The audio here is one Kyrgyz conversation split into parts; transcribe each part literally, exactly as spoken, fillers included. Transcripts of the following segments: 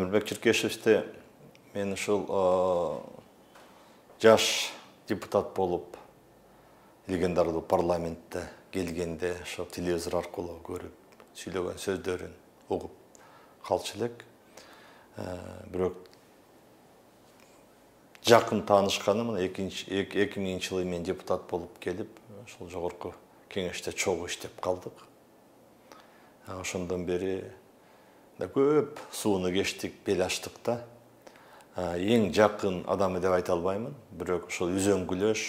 Өмүрбек Чиркешевди мен ушул жаш депутат болуп легендарлуу парламентте келгенде ошо телевизор аркылуу көрүп сүйлөгөн сөздөрүн угуп калчу элек. Бирок жакын таанышканы мына эки миңинчи жылы мен депутат болуп келип, ошол жогорку кеңеште чогуу иштеп калдык. Ошондон бери көп сууну кечтик, бел ачтык да. Эң жакын адамы деп айта албаймын, бирок ошол үзөңгүлөш,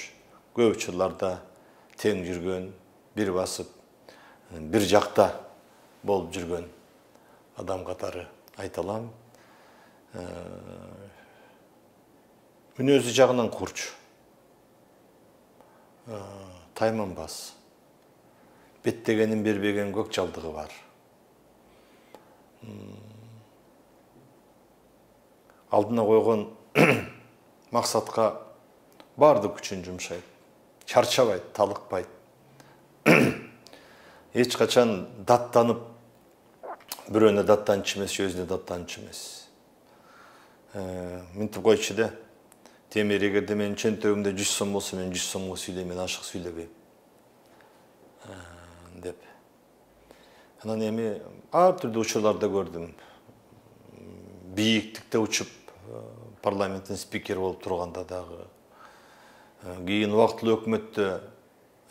көп учурларда тең жүргөн, бир басып, бир жакта болуп жүргөн адам катары айта алам. Мүнөзү жагынан курч, тайманбас, беттегенин бербеген көк жалдыгы бар. Алдына койгон максатка бардык күчүн жумшайт, чарчабайт, талыкпайт. Эч качан даттанып, бирөөнө даттанчу эмес, өзүнө даттанчу эмес. Мынтип койчу да, Темир, эгерде менин чөнтөгүмдө жүз сом болсо, мен жүз сомго сүйлөйм, мен ашык сүйлөбөйм деп. Анан эми ар түрдүү учурларда көрдүм. Бийиктикте учуп парламенттин спикери болуп турганда дагы, кийин убактылуу өкмөттө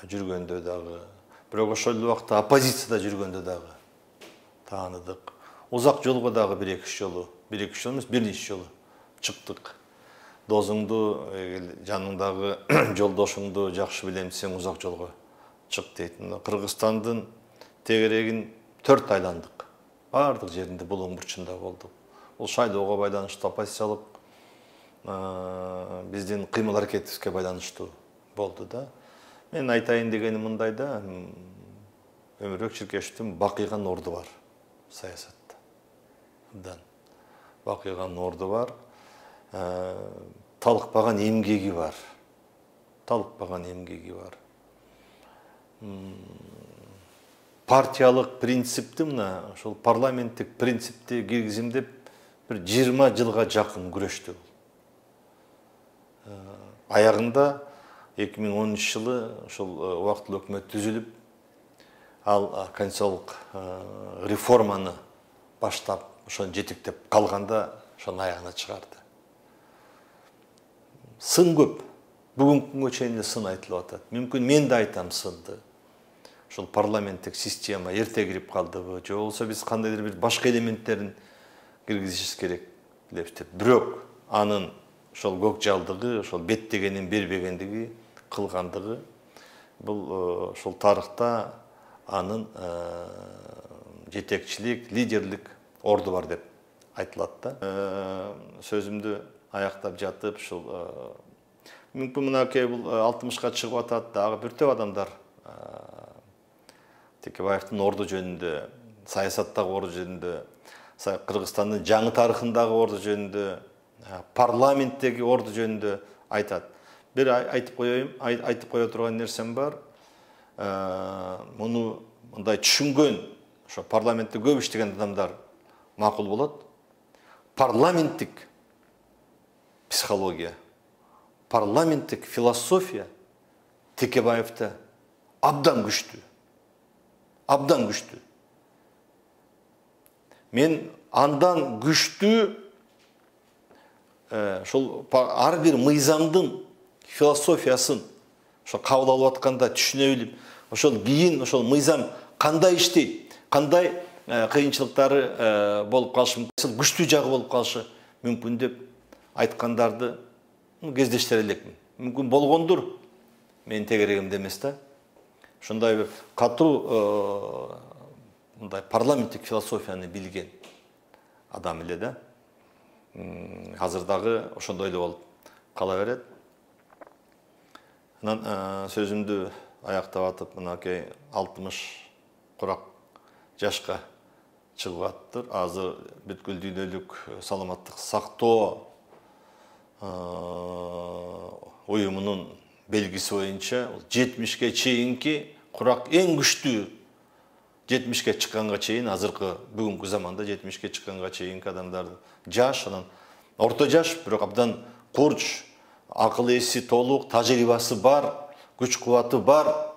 жүргөндө дагы, бирок ошол убакта оппозицияда жүргөндө дагы тааныдык. Узак жолго дагы бир-эки жолу, бир-эки жолу эмес, бир нече жолу чыктык. Досуңду, жаныңдагы жолдошуңду жакшы билем десең, узак жолго чык дейт. Кыргызстандын тегерегин төрт айландык. Бардык жеринде булуң бурчунда болдук. Бул шайлоого байланыштуу, оппозициялык биздин кыймыл аракетибизге байланыштуу болду да. Мен айтайын дегеним мындай да, Өмүрбек Чиркешевдин бакыйган орду бар саясатта. Бакыйган орду бар. Талыкпаган эмгеги бар. Талыкпаган эмгеги бар. Партиялык принципти, мына ошол парламенттик принципти киргизим деп бир жыйырма жылга жакын күрөштү. Аягында эки миң онунчу жылы ошол убактылуу өкмөт түзүлүп, ал конституциялык реформаны баштап, ошону жетектеп калганда ошонун аягына чыгарды. Сын көп. Бүгүнкү күнгө чейин сын айтылып атат. Мүмкүн мен да айтам сынды. Ошол парламенттик система эрте кирип калдыбы, же болбосо биз кандайдыр бир башка элементтерин киргизишибиз керек деп. Бирок анын ошол көк жалдыгы, ошол беттегенин бербегендиги, кылгандыгы, бул ошол тарыхта анын жетекчилик, лидерлик орду бар деп айтылат да. Сөзүмдү аяктап жатып, ушул мүмкүн мынакей бул алтымышка чыгып атат, дагы бир топ адамдар Текебаевдин орду жөнүндө, саясаттагы орду жөнүндө, Кыргызстандын жаңы тарыхындагы орду жөнүндө, парламенттеги орду жөнүндө айтат. Бир айтып коеюн, айтып кое турган нерсем бар. Муну мындай түшүнгөн, ошо парламентте көп иштеген адамдар макул болот. Парламенттик психология, парламенттик философия Текебаевде абдан күчтүү. Абдан күчтүү. Мен андан күчтүү ошол ар бир мыйзамдын философиясын ошо кабыл алып атканда түшүнө билип, ошол кийин ошол мыйзам кандай иштейт, кандай кыйынчылыктары болуп калышы мүмкүн, күчтүү жагы болуп калышы мүмкүн деп айткандарды кездештире элекмин. Мүмкүн болгондур, менин тегерегимде эмес да. Ошондой бир катуу мындай парламенттик философияны билген адам эле да. Азыр дагы ошондой эле болуп кала берет. Анан сөзүмдү аяктап атып, мынакей алтымыш курак жашка чыгып аттыр. Азыр бүткүл дүйнөлүк саламаттык сактоо уюмунун белгиси боюнча жетимишке чейинки курак эң күчтүү жетимишке чыкканга чейин, азыркы бүгүнкү заманда жетимишке чыкканга чейинки адамдардын жаш, анан орто жаш, бирок абдан курч, акыл эси толук, тажрыйбасы бар, күч кубаты бар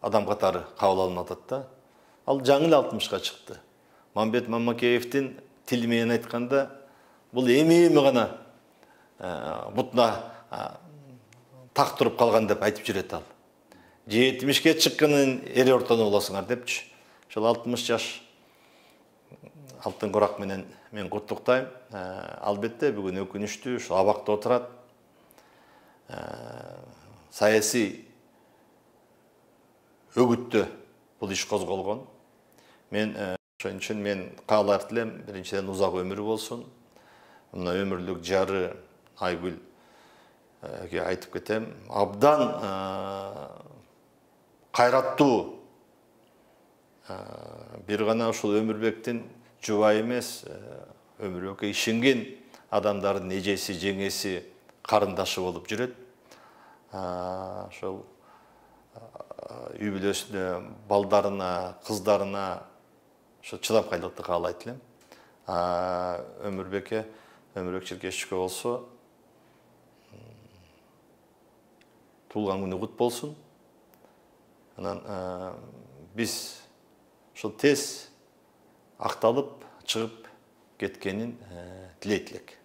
адам катары кабыл алынып атат да. Ал жаңы эле алтымышка чыкты. Мамбет Мамакеевдин тили менен айтканда, бул эми-эми гана бутуна так туруп калган деп айтып жүрөт ал. жетимишке чыкканын эр ортону болосуңар депчи. Ошол алтымыш жаш алтын корак менен мен куттуктайм. Албетте бүгүн өкүнүчтүү, ушул абакта отурат. Саясий өгүттө бул иш козголгон. Мен ошон үчүн мен каалар элем, биринчиден узак өмүр болсун. Мына өмүрлүк жары Айгүлгө айтып кетем, абдан кайраттуу, бир гана ушул Өмүрбектин жубайы эмес, Өмүрбекке ишенген адамдардын эжеси, жеңеси, карындашы болуп жүрөт. Ошол үй бүлөсүнө, балдарына, кыздарына ошо чыдамкайлыкты каалайт элем. Өмүрбекке, Өмүрбек Черкесчикке болсо, туулган күнү кут болсун. Анан биз ошол тез акталып чыгып кеткенин тилейт элек.